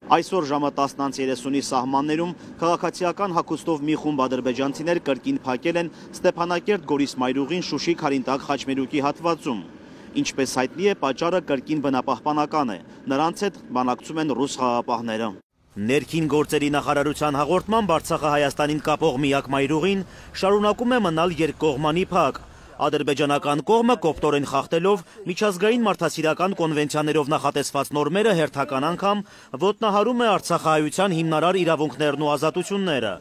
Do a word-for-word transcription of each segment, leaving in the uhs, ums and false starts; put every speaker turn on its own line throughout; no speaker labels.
Այսօր ժամը տասնից երեսունի սահմաններում քաղաքացիական հագուստով մի խումբ ադրբեջանցիներ կրկին փակել են Ստեփանակերտ-Գորիս մայրուղին Շուշի-Քարինտակ խաչմերուկի հատվածում։ Ինչպես հայտնի է, պատճառը կրկին բնապահպանական է, նրանց հետ բանակցում են ռուս խաղաղապահները։ Ներքին գործերի նախարարության հաղորդմամբ Արցախը Հայաստանին կապող միակ մայրուղին շարունակում է մնալ երկկողմանի փակ։ Ադրբեջանական կողմը կոպտորեն խախտելով միջազգային մարդասիրական կոնվենցիաներով նախատեսված նորմերը հերթական անգամ ոտնահարում է արցախահայության հիմնարար իրավունքներն ու ազատությունները։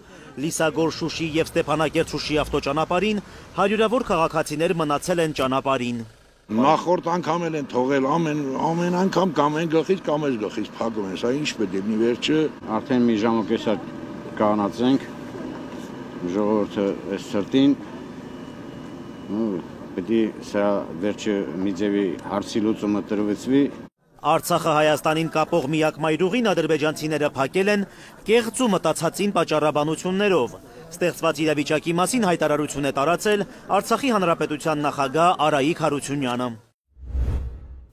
Լիսագոր-Շուշի և Ստեփանակերտ-Շուշի ավտոճանապարհին հարյուրավոր քաղաքացիներ մնացել են ճանապարհին։
Նախորդ անգամ են թողել ամեն ամեն անգամ կամ են գլխից կամ էս գլխից փակում են, սա ինչ պետք է մի վերջը
արդեն մի ժամ ու կես կանացենք ժողովուրդը այս ցրտին Պետք է սա վերջը մի ձևի հարցի լուծումը տրվեցվի։
Արցախը Հայաստանին կապող միակ մայրուղին ադրբեջանցիները փակել են կեղծ ու մտածածին պատճառաբանություններով։ Ստեղծված իրավիճակի մասին հայտարարություն է տարածել Արցախի Հանրապետության նախագահ Արայիկ Հարությունյանը։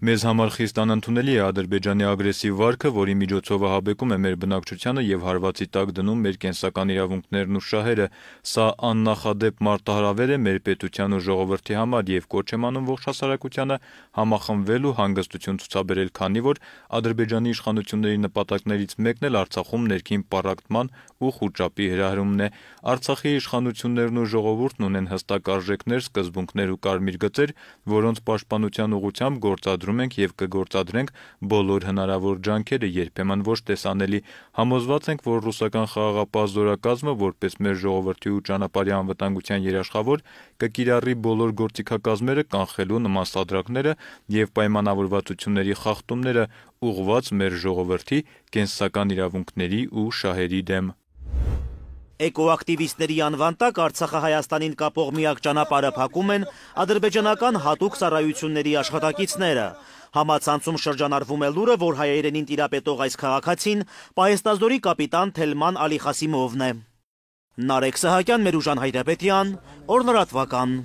Մեզ համար խիստ անընդունելի է Ադրբեջանի ագրեսիվ վարքը, որի միջոցով ահաբեկում է մեր բնակչությանը եւ հարվածի տակ դնում մեր կենսական իրավունքներն ու շահերը։ Սա աննախադեպ մարտահրավեր է մեր պետության ու ժողովրդի համար եւ կոչ եմ անում ողջ հասարակությանը համախմբվել ու հանգստություն ցուցաբերել, քանի որ Ադրբեջանի իշխանությունների նպատակներից մեկն էլ Արցախում ներքին պառակտման ու խուճապի հրահրումն է։ Արցախի իշխանություններն ու ժողովուրդն ունեն հստակ արժեքներ, սկզբունքներ ու կարմիր գծեր, որոնց պաշտպանության ուղղությամբ գործադրում ենք եւ կգործադրենք բոլոր հնարավոր ջանքերը, երբեմն ոչ տեսանելի։ Համոզված ենք, որ ռուսական խաղաղապահ զորակազմը, որպես մեր ժողովրդի ու ճանապարհի անվտանգության երաշխավոր, կկիրառի բոլոր գործիքակազմերը կանխելու նման սադրակները եւ պայմանավորվածությունների խախտումները ուղղված մեր ժողովրդի կենսական իրավունքների ու շահերի դեմ։
Էկոակտիվիստների անվան տակ Արցախը Հայաստանին կապող միակ ճանապարհը փակում են ադրբեջանական հատուկ ծառայությունների աշխատակիցները։ Համացանցում շրջանառվում է լուրը, որ հայերենին տիրապետող այս քաղաքացին պահեստազորի կապիտան Թելման Ալիխասիմովն է։ Նարեկ Սահակյան, Մերուժան Հայրապետյան, Օրնորատվական։